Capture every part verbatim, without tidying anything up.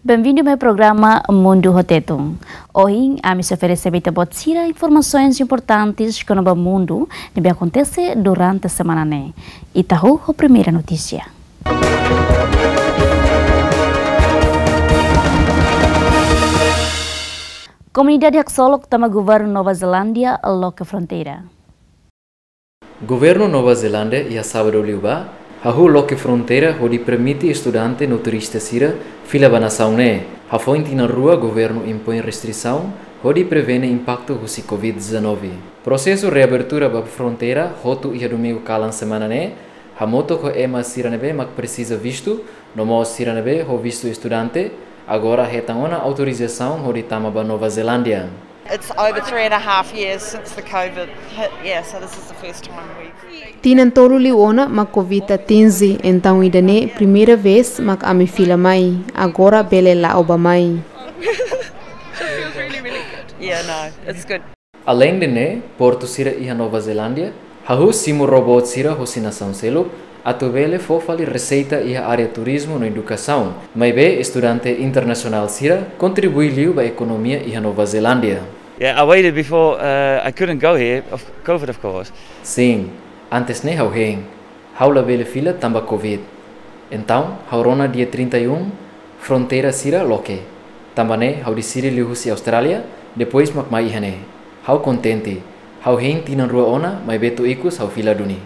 Benvindu mai programa Mundu ho Tetun. Ohin, ami sei oferese ba ita-boot sira informasoens importantes kona-ba mundu ne'ebé akontese durante semana ne'e. Ita hahú ho primeira notísia. Komunidade haksolok tama governu Nova Zelándia loke fronteira. Governu Nova Zelándia iha sábadu liubá hahú loke fronteira hodi permite estudante no turista sira fila ba nasaun ne'e. Hafoin tinan rua governu impoin restrisaun hodi prevene impaktu husi covid dezanove. Prosesu reabertura ba fronteira hotu iha domingu kalan semana ne'e, hamutuk ho ema sira ne'ebé mak presiza vistu, no mós sira ne'ebé ho vistu estudante, agora hetan ona autorizasaun hodi tama ba Nova Zelándia. It's over three and a half years since the covid hit. Yeah, so this is the first time we've Tinan tolu liu ona mak covid atinje, entaun ida-ne'e primeira vez mak ami fila mai, agora bele la'o bá mai. It feels really, really good. Yeah, no, it's good. Aleinde ne'e, portu sira iha Nova Zelándia hahú simu ró-boot sira hosi nasaun seluk, atu bele fó fali reseita iha área turizmu no edukasaun, maibé estudante internasionál sira kontribui liu ba ekonomia iha Nova Zelándia. Yeah, I waited before, uh, I couldn't go here, of covid, of course. Sin, antes ne'e ha'u hein, ha'u labele fila tanba covid. Entaun, ha'u rona dia trinta e um, fronteira sira loke. Tanba ne'e, ha'u deside liu husi Austrália, depois mak mai iha ne'e. Ha'u kontente. Ha'u hein tinan rua ona, maibé to'o ikus ha'u fila duni.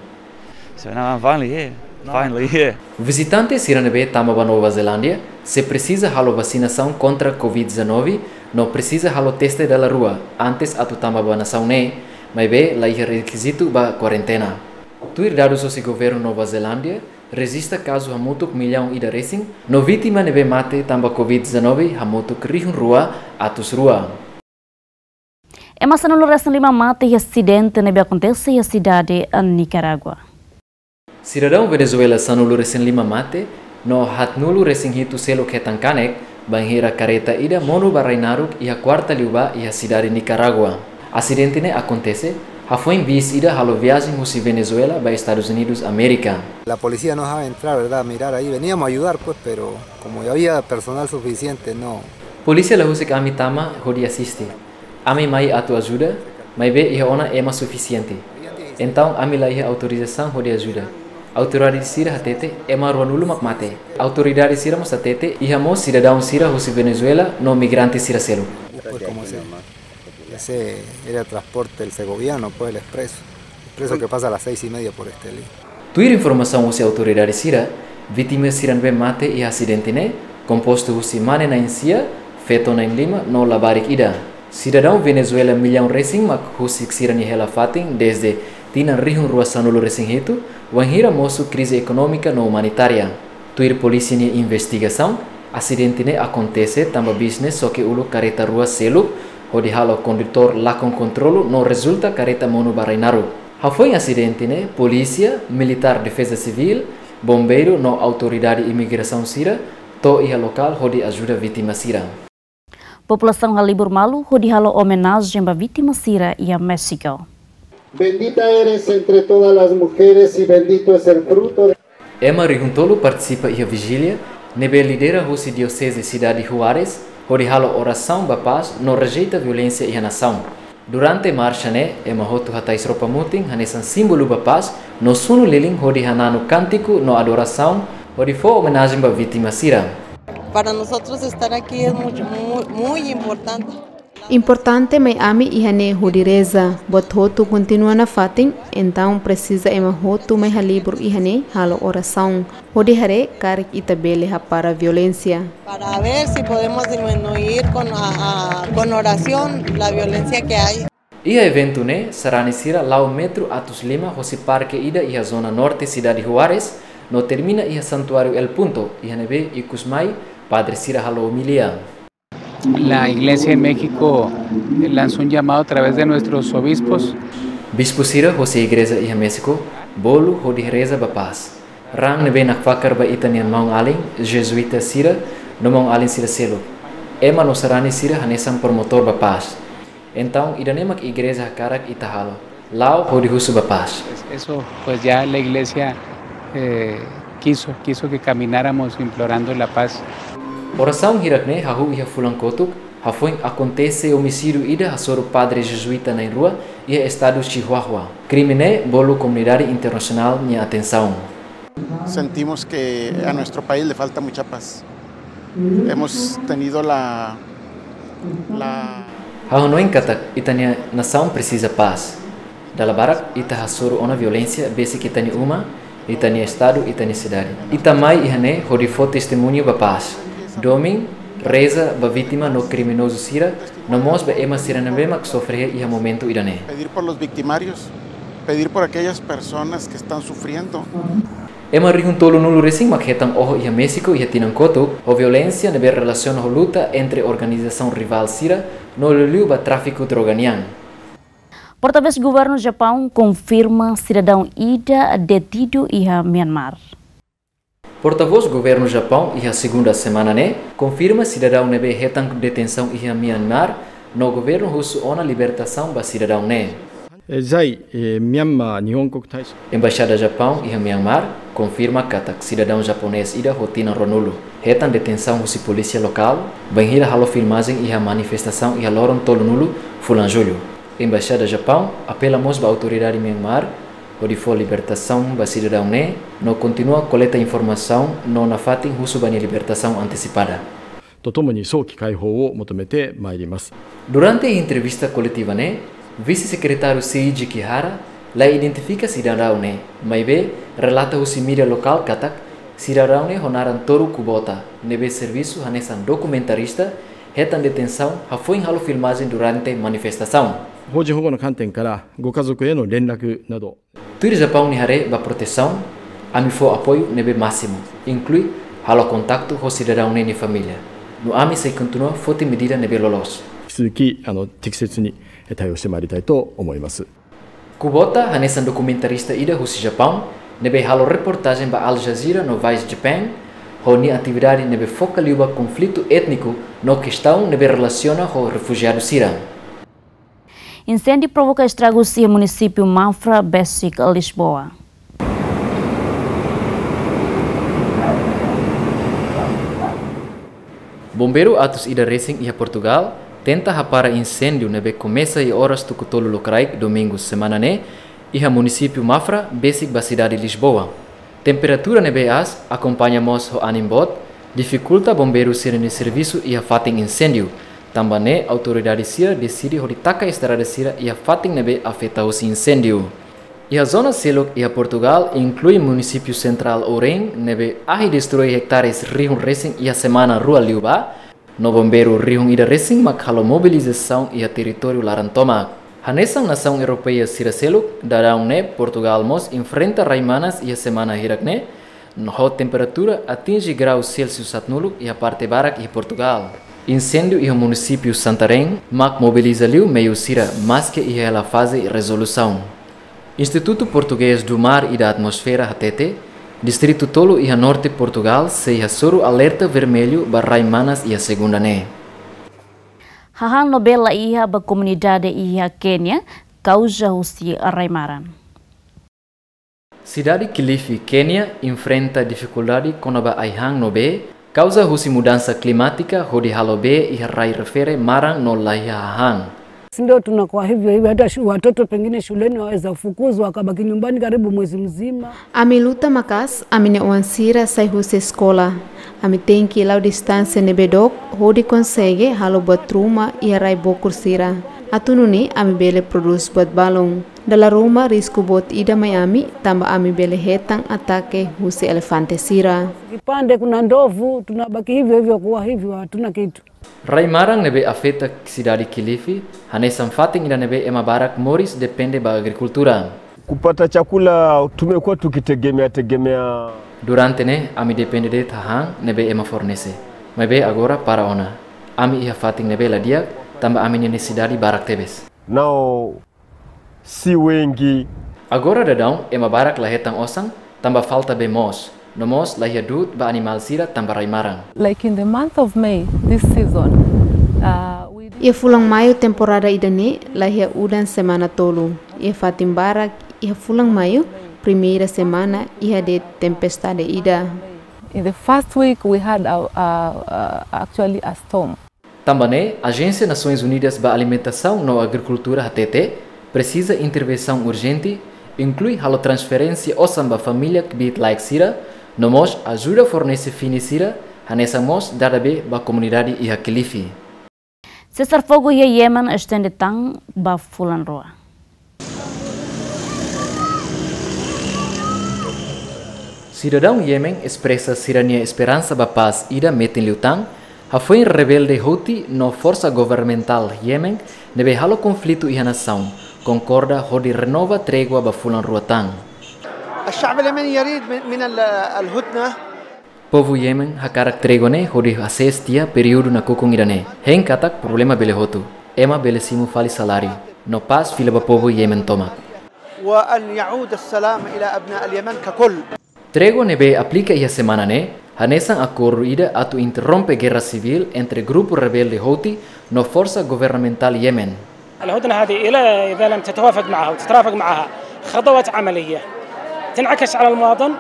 So now I'm finally here. Finally here. Vizitante sira ne'ebé tama ba Nova Zelándia sei presiza halo vasinasaun kontra covid dezanove, no presiza halo teste dala rua antes atu tama ba nasaun ne'e, maibé la iha rekizitu ba kuarentena. Tuir dadus hosi governu Nova Zelándia, rejista kazu hamutuk millaun ida resin, no vítima ne'ebé mate tanba covid dezanove hamutuk rihun rua atus rua. Ema sanulu resin lima mate iha asidente ne'ebé akontese iha sidade Nicarágua. Sidadaun Venezuela sanulu resin lima mate, no haatnulu resin hitu seluk hetan kanek, bainhira kareta ida monu ba rai naruk iha kuarta liubá iha sidade Nicarágua. Asidente ne'e akontese hafoin bis ida halo viajen husi Venezuela ba Estadus Unidus Amérika. La policía nos ha entrar, ¿verdad? A mirar ahí. Veníamos a ayudar, pues, pero como ya había personal suficiente, no. Polísia la husik ami tama hodi asiste. Ami mai atu ajuda, maibé iha ona ema sufisiente. Entaun ami la iha autorizasaun hodi ajuda. Autoridade sira hatete ema ruanulu mak mate. Autoridade sira mós hatete iha mós sidadaun sira husi Venezuela no migrante sira seluk. Pues como se, ese era transporte, el segoviano, pues el expreso. Expreso que pasa a las seis y media por este lado. Tuir informasaun husi autoridade sira, vítima sira ne'ebé mate iha asidente ne'e kompostu husi mane na'in sia, feto na'in lima no labarik ida. Sidadaun Venezuela millaun resin mak husik sira-nia hela-fatin dezde tinan rihun rua sanulu resin hitu, wainhira mosu krize ekonómika no umanitária. Tuir polísia nia investigasaun, asidente ne'e akontese tanba bis ne'e xoke uluk kareta rua seluk, hodi halo kondutór lakon kontrolu no rezulta kareta monu ba rai naruk. Hafoin asidente ne'e, polísia, militár defeza sivíl, bombeiru no autoridade imigrasaun sira to'o iha lokál hodi ajuda vítima sira. Populasaun halibur malu hodi halo omenajen ba vítima sira iha Méxiku. Bendita eres entre todas las mujeres y bendito es el fruto de... Ema rihun tolu partisipa iha vijília ne'ebé lidera husi Dioseze Sidade Juárez, hodi halo orasaun ba pás no rejeita violénsia iha nasaun. Durante marxa ne'e, ema hotu hatais roupa mutin hanesan símbolu ba pás, no sunu lilin hodi hananu kántiku no adorasaun, hodi fó omenajen ba vítima sira. Para nosotros estar aquí es mucho, muy, muy importante. Importante mai ami iha ne'e hodi reza, buat hotu kontinua nafatin, entaun presiza ema hotu mai halibur iha ne'e halo orasaun. Hodi haree karik ita bele hapara violénsia. Para ver si podemos disminuir con, a, a, con oración la violencia que hay. Iha eventu ne'e, sarani sira la'o metru atus lima hosi parke ida iha zona norte sidade Juárez, no termina iha santuáriu El Punto, iha ne'ebé ikus mai padre sira halo omilia. La Iglesia en México lanzó un llamado a través de nuestros obispos. Bispu sira hosi igreja iha Méxiku bolu hodi reza ba pás. Raan ne'ebé nakfakar ba ita-nia maun-alin jezuíta sira no maun-alin sira seluk. Ema no sarani sira hanesan promotór ba pás. Entaun, ida-ne'e mak igreja hakarak ita halo. La'o hodi husu ba pás. Eso, pues ya la iglesia, eh, quiso, quiso que camináramos implorando la paz. Orasaun hirak-ne'e hahú iha fulan kotuk, hafoin akontese omisídiu ida hasoru padre jezuíta na'in-rua iha estadu Chihuahua. Krime ne'e bolu komunidade internasionál nia atensaun. Sentimos que a nuestro país le falta mucha paz. Hemos tenido la, la... Ha'u hanoin katak ita-nia nasaun presiza pás. Dala barak ita hasoru ona violénsia besik ita-nia uma, ita-nia estadu, ita-nia sidade. Ita mai iha ne'e hodi fó testemuñu ba pás. Domin, reza ba vítima no kriminozu sira, no mós ba ema sira ne'ebé mak sofre iha momentu ida-ne'e. Pedir por los victimarios, pedir por aquellas personas que están sufriendo. Ema rihun tolunulu resin mak hetan oho iha Méxiku iha tinan kotuk, ho violénsia ne'ebé relasiona ho luta entre organizasaun rivál sira, no liuliu ba tráfiku droga nian. Portavós Governu Japaun konfirma sidadaun ida detidu iha Myanmar. Portavós Governu Japaun iha segunda semana ne'e konfirma sidadaun ne'ebé hetan detensaun iha Myanmar, no governu husu ona libertasaun ba sidadaun ne'e. 在、えー、ミャンマー日本国大使 Embaixada Japaun iha Myanmar konfirma katak sidadaun japonés ida ho tinan ruanulu hetan detensaun husi polísia lokál, bainhira halo filmajen iha manifestasaun iha loron tolunulu fulan Jullu. Embaixada Japaun apela mós ba autoridade Myanmar hodi fó libertasaun ba sidadaun ne'e, no kontinua koleta informasaun no nafatin husu ba nia libertasaun antesipada. とともに早期解放を求めてまいります。 Durante entrevista koletiva ne'e, Vise-Sekretáriu Seiji Kihara la identifika sidadaun ne'e, maibé relata husi mídia lokál katak sidadaun ne'e ho naran Toru Kubota, ne'ebé servisu hanesan dokumentarista, hetan detensaun hafoin halo filmajen durante manifestasaun. 邦人保護の観点から、ご家族への連絡など。 Tuir Japaun nia haree ba protesaun, ami fó apoiu ne'ebé másimu, inklui halo kontaktu ho sidadaun ne'e nia família. No ami sei kontinua foti medida ne'ebé loloos. 引き続き、あの、適切に、えー、対応してまいりたいと思います。 Kubota hanesan dokumentarista ida husi Japaun, ne'ebé halo reportajen ba Al Jazeera no Vice Japan, ho nia atividade ne'ebé foka liu ba konflitu étniku no kestaun ne'ebé relasiona ho refujiadu sira. Insêndiu provoka estragus iha munisípiu Mafra, besik Lisboa. Bombeiru atus ida resin iha Portugal tenta hapara insêndiu ne'ebé komesa iha oras tuku tolu lokraik Domingu semana ne'e iha munisípiu Mafra, besik ba sidade Lisboa. Temperatura ne'ebé aas, akompaña mós ho anin boot, difikulta bombeiru sira-nia servisu iha fatin insêndiu. Tanba ne'e autoridade sira deside hodi taka estrada sira iha fatin ne'ebé afeta husi insêndiu. Iha zona seluk iha Portugal, inklui munisípiu sentrál Ourém, ne'ebé ahi destrui hektares rihun resin iha semana rua liubá, no bombeiru rihun ida resin mak halo mobilizasaun iha territóriu laran tomak. Hanesan nasaun europeia sira seluk, daudaun ne'e Portugal mós enfrenta rai manas iha semana hirak-ne'e, no ho temperatura atinje grau Celsius haatnulu iha parte barak iha Portugal. Insêndiu iha munisípiu Santarém mak mobiliza liu meiu sira, maske iha hela faze rezolusaun. Instituto Português do Mar e da Atmosfera hatete, distritu tolu iha norte Portugal sei hasoru alerta vermellu ba rai manas iha segunda ne'e. Hahán ne'ebé la iha ba komunidade iha Kénia, kauza husi rai maran. Sidade Kilifi, Kénia, enfrenta difikuldade kona-ba ai-han ne'ebé kauza husi mudansa klimátika hodi halo bee iha rai refere maran no la iha hahán. Sisi ndio tunakuwa hivyo hivyo, hata shu-, watoto pengine shuleni waweza fukuzwa, wakabaki nyumbani karibu mwezi mzima. Ami luta maka'as, ami-nia oan sira sai husi eskola. Ami tenke la'o distánsia ne'ebé dook hodi konsege halo buat ruma iha rai bokur sira. Atu nune'e ami bele prodús buat balun. Dala ruma risku boot ida mai ami, tanba ami bele hetan atake husi elefante sira. Kipande kuna ndovu, tunabaki hivyo hivyo kuwa hivyo, hatuna kitu. Rai maran ne'ebé afeta sidade Kilifi, hanesan fatin ida ne'ebé ema barak moris depende ba agrikultura. Kupata chakula tumekuwa tukitegemea tegemea. Durante ne'e, ami depende de'it hahán ne'ebé ema fornese. Maibé agora para ona. Ami iha fatin ne'ebé la di'ak, tanba ami-nia nesesidade barak tebes. Nao si wengi. Agora daudaun, ema barak la hetan osan, tanba falta bee moos. No mós la iha du'ut ba animál sira tanba rai maran. Like in the month of May, this season, uh, we did... Iha fulan Maiu temporada ida-ne'e, la iha udan semana tolu. Iha fatin barak, iha fulan Maiu, primeira semana, iha de'it tempestade ida. In the first week, we had a, a, a, actually a storm. Tanba ne'e, Ajénsia Nasoins Unidas ba Alimentasaun no Agrikultura hatete, presiza intervensaun urjente, inklui halo transferénsia osan ba família kbiit-laek sira, no mós ajuda fornese fini sira, hanesan mós dada bee ba komunidade iha Kilifi. Sesar fogu iha Yemen estende tan ba fulan rua. Sidadaun Yemen espresa sira-nia esperansa ba pás ida metin liután, hafoin rebelde Houthi no forsa governamentál Yemen ne'ebé halo konflitu iha nasaun, konkorda hodi renova trégua ba fulan rua tan. الشعب اليمني يريد من، من ال-، الهدنة. Povu Yemen hakarak trégua ne'e hodi hasees tiha períodu nakukun ida-ne'e. Hein katak problema bele hotu. Ema bele simu fali saláriu. No pás fila ba povu Yemen tomak. وأن يعود السلام إلى أبناء اليمن ككل. Trégua ne'ebé aplika iha semana ne'e, hanesan akordu ida atu interrompe gerra sivíl entre grupu rebelde Houthi no forsa governamentál Yemen. الهدنة هذه إلى، إذا لم تتوافق معها وتترافق معها خطوات عملية تنعكس على المواطن.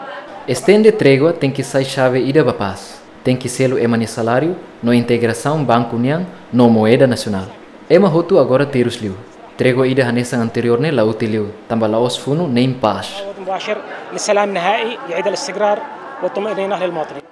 Estende trégua tenke sai xave ida ba pás. Tenke selu ema nia saláriu, no integrasaun banku nian, no moeda nasionál. Ema hotu agora terus liu. Trégua ida hanesan anteriór ne'e la útil liu, tanba la'ós funu nein pás. مباشر لسلام نهائي يعيد الاستقرار والطمأنينة للمواطنين.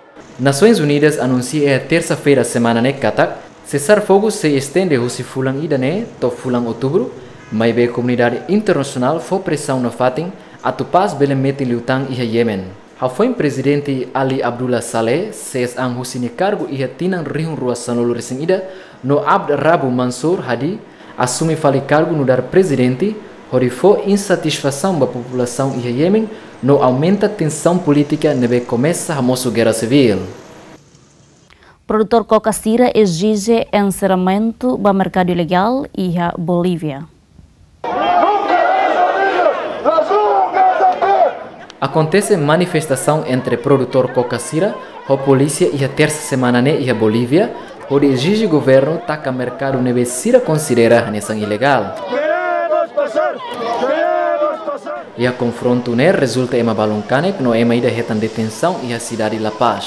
Nasoins Unidas anunsia iha tersa-feira semana ne'e katak, sesar fogu sei estende husi fulan ida-ne'e to'o fulan outubru, maibé komunidade internasionál fó presaun nafatin atu pás bele metin liután iha Yemen. Hafoin Prezidente Ali Abdullah Saleh sees an husi nia kargu iha tinan rihun rua sanulu resin ida, no Abd Rabbu Mansur Hadi asume fali kargu nu'udar prezidente, hodi fó insatisfasaun ba populasaun iha Yemen, no aumenta tensaun polítika ne'ebé komesa hamosu gerra sivíl. Produtór koka sira ezije enserramentu ba merkadu ilegál iha Bolívia. Akontese manifestasaun entre produtór koka sira ho polísia iha tersa semana ne'e iha Bolívia, hodi ezije governu taka merkadu ne'ebé sira konsidera hanesan ilegál. Iha konfrontu ne'e rezulta ema balun kanek no ema ida hetan detensaun iha sidade La Paz.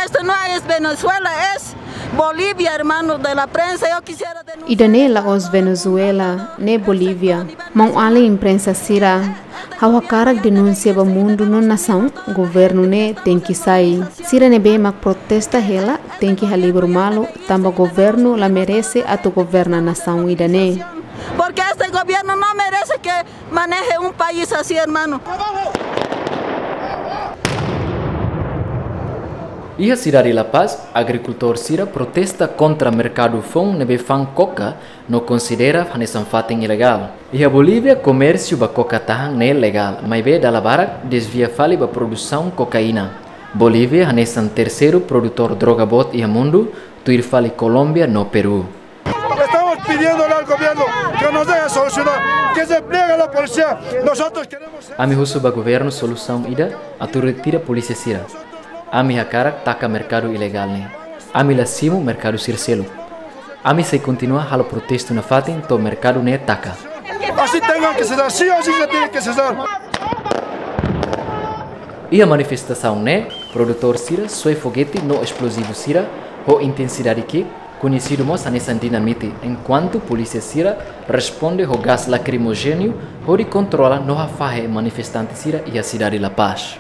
Esto no es Venezuela, es Bolivia, hermano de la prensa. Yo quisiera denunciar. Ida-ne'e la'ós Venezuela, ne'e Bolívia. Maun-alin imprensa sira, ha'u hakarak denunsia ba mundu no nasaun, governu ne'e tenke sai. Sira ne'ebé mak protesta hela, tenke halibur malu, tanba governu la merese atu governa nasaun ida-ne'e. Porque este gobierno no merece que maneje un país así, hermano. Iha sidade La Paz, agrikultór sira protesta kontra merkadu foun ne'ebé fa'an koka no konsidera hanesan fatin ilegál. Iha Bolívia, komérsiu ba koka tahan ne'e legál, maibé dala barak desvia fali ba produsaun kokaína. Bolívia hanesan terseiru produtór droga boot iha mundu, tuir fali Kolómbia no Peru. Estamos pidiéndole al gobierno que nos deje solucionar, que se pliegue a la policía. Nosotros queremos. Ami husu ba governu solusaun ida atu retira polísia sira. Ami hakarak taka merkadu ilegál ne'e. Ami la simu merkadu sira seluk. Ami sei kontinua halo protestu nafatin to'o merkadu ne'e taka. Así tengan que cesar, sí o sí se tiene que cesar. Iha manifestasaun ne'e, produtór sira soe fogete no esplozivu sira ho intensidade ki'ik, koñesidu mós hanesan dinamite, enkuantu polísia sira responde ho gás lakrimojéneu hodi kontrola no hafahe manifestante sira iha sidade La Paz.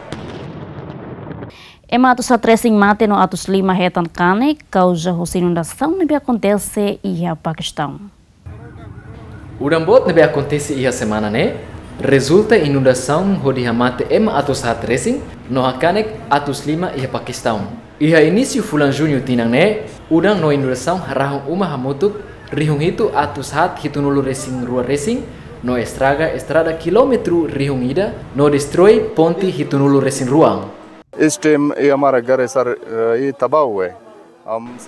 Ema atus haat resin mate no atus lima hetan kanek kauza husi inundasaun ne'ebé akontese iha Pakistaun. Udan boot ne'ebé akontese iha semana ne'e rezulta inundasaun hodi hamate ema atus haat resin no hakanek atus lima iha Pakistaun. Iha inísiu fulan Juñu tinan ne'e, udan no inundasaun harahun uma hamutuk rihun hitu atus haat hitunulu resin rua resin, no estraga estrada kilómetru rihun ida, no destroi ponte hitunulu resin rua. इस टाइम ये हमारा घर है सर, ये तबाह हुआ है।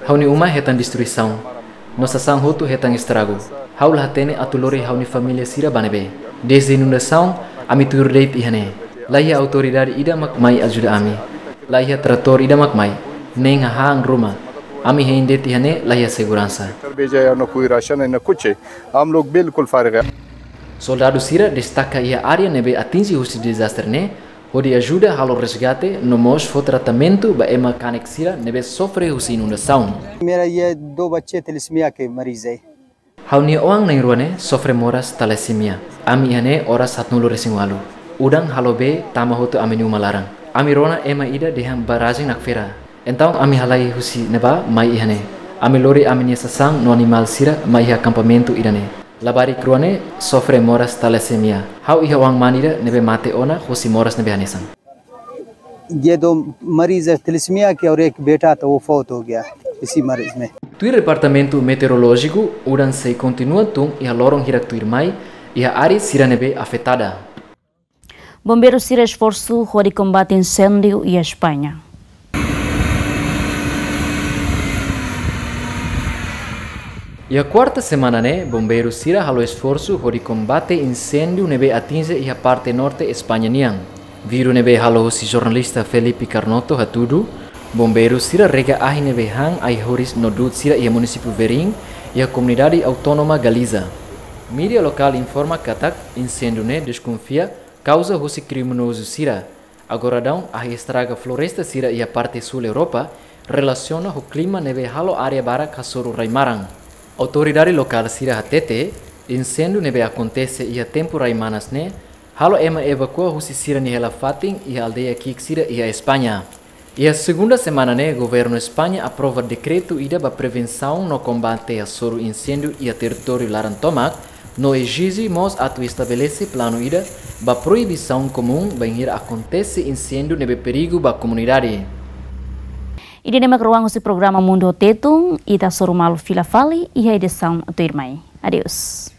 Ha'u-nia uma hetan destruisaun. No sasán hotu hetan estragu. Ha'u la hatene atu lori ha'u-nia família sira ba ne'ebé. Dezde inundasaun, ami tuir de'it iha ne'e. La iha autoridade ida mak mai ajuda ami. La iha tratór ida mak mai. Nein hahán ruma. Ami hein de'it iha ne'e la iha seguransa. घर भेजा है, ना कोई राशन है, ना कुछ है। हम लोग बिल्कुल फारिग है। Soldadu sira destaka iha área ne'ebé atinje husi dezastre ne'e, hodi ajuda halo resgate no mós fó tratamentu ba ema kanek sira ne'ebé sofre husi inundasaun. मेरा ये दो बच्चे थैलेसीमिया के मरीज है। Ha'u-nia oan na'in-rua ne'e sofre moras talasemia. Ami iha ne'e oras haatnulu-resin-ualu. Udan halo bee tama hotu ami-nia uma laran. Ami rona ema ida dehan barrajen nakfera. Entaun ami halai husi ne'ebá mai iha ne'e. Ami lori ami-nia sasán no animál sira mai iha akampamentu ida-ne'e. Labarik rua ne'e sofre moras talasemia. Ha'u iha oan mane ida ne'ebé mate ona husi moras ne'ebé hanesan. ये दो मरीज है थैलेसीमिया के और एक बेटा था, वो फौत हो गया इसी मरीज में। Tuir Departamentu Meteorolójiku, udan sei kontinua tun iha loron hirak tuirmai iha área sira ne'ebé afetada. Bombeiru sira esforsu hodi kombate inséndiu iha España. Iha kuarta semana ne'e, bombeiru sira halo esforsu hodi kombate inséndiu ne'ebé atinje iha parte norte España nian. Vídeo ne'ebé halo husi jornalista Felipe Carnoto hatudu, bombeiru sira rega ahi ne'ebé han ai-horis no du'ut sira iha munisípiu Verín, iha komunidade autónoma Galiza. Mídia lokál informa katak inséndiu ne'e deskonfia kauza husi kriminozu sira. Agora daudaun ahi estraga floresta sira iha parte súl Europa relasiona ho klima ne'ebé halo área barak hasoru rai-maran. Autoridade lokál sira hatete, inséndiu ne'ebé akontese iha tempu rai-manas ne'e halo ema evakua husi sira-nia hela-fatin iha aldeia ki'ik sira iha España. Iha segunda semana ne'e, governu España aprova dekretu ida ba prevensaun no kombate hasoru inséndiu iha territóriu laran tomak, no ezije mós atu estabelese planu ida ba proibisaun komún bainhira akontese inséndiu ne'ebé perigu ba komunidade. Ida-ne'e mak ruang husi programa Mundu ho Tetun, ita hasoru malu fila fali iha edisaun tuirmai. Adeus.